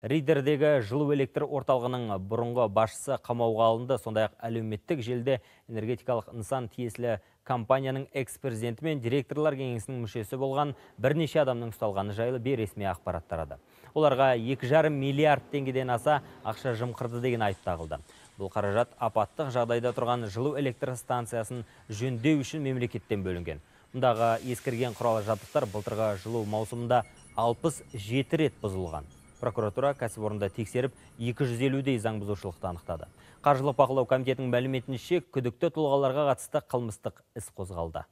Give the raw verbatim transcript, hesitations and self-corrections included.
Ридердегі жылу электр орталығының бұрынғы басшысы қамауға алынды. Сондай-ақ әлеуметтік желіде энергетикалық нысан тиесілі компанияның экс-президенті мен директорлар кеңесінің мүшесі болған бірнеше адамның ұсталғаны жайлы бейресми ақпарат тарады. Оларға екі жарым миллиард теңгеден аса ақша жымқырды деген айып тағылды. Бұл қаражат апаттық жағдайда тұрған жылу электр станциясын жөндеу үшін мемлекеттен бөлінген. Мұндағы ескірген құрал жабдықтар былтырғы жылу маусымында алпыс жеті рет бұзылған. Прокуратура кәсіпорында тексеріп, екі жүз елудей заң бұзушылықты анықтады. Қаржылық бақылау комитетінің мәліметінше күдікті тұлғаларға қатысты қылмыстық іс қозғалды.